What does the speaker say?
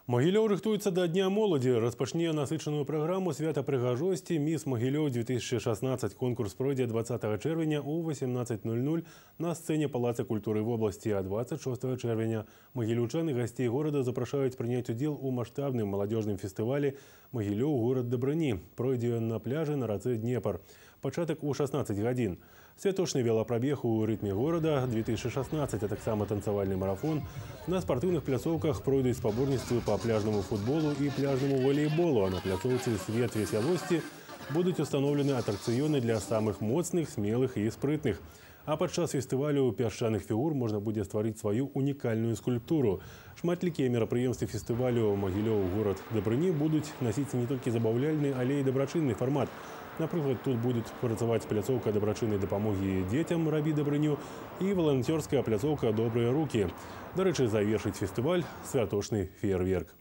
Могилёў рыхтуецца да Дня моладзі. Распачне насычаную праграму свята прыгажосці «Міс Могилёў-2016». Конкурс пройдзе 20 чэрвеня у 18:00 на сцэне Палаца культуры вобласці, а 26 чэрвеня магілёўчан і гасцей горада запрашаюць прыняць удзел у маштабным маладзёжным фестывалі «Могилёў. Горад дабрыні». Пройдзе ён на пляжы на рацэ Днепр. Пачатак у 16 гадзін. Святочны велапрабег у рытме горада 2016, а таксама танцавальны марафон. На спартыўных пляцоўках пройдуць спаборніцтвы па пляжнаму футболу і пляжнаму волейболу, а на пляцоўцы «Свет весялосці» будуць устаноўлены атракцыёны для самых моцных, смелых і спрытных. А падчас фестывалю пясчаных фігур можна будзе стварыць сваю унікальную скульптуру. Шматлікія мерапрыемствы фестывалю «Могилёў. Горад дабрыні» будуць насіць не толькі забаўляльны, але і дабрачынны фармат. Напрыклад, тут будуць працаваць пляцоўка дабрачыннай дапамогі дзецям «Рабі дабрыню» і валанцёрская пляцоўка «Добрыя рукі». Дарэчы, завершыць фестываль святочны феерверк.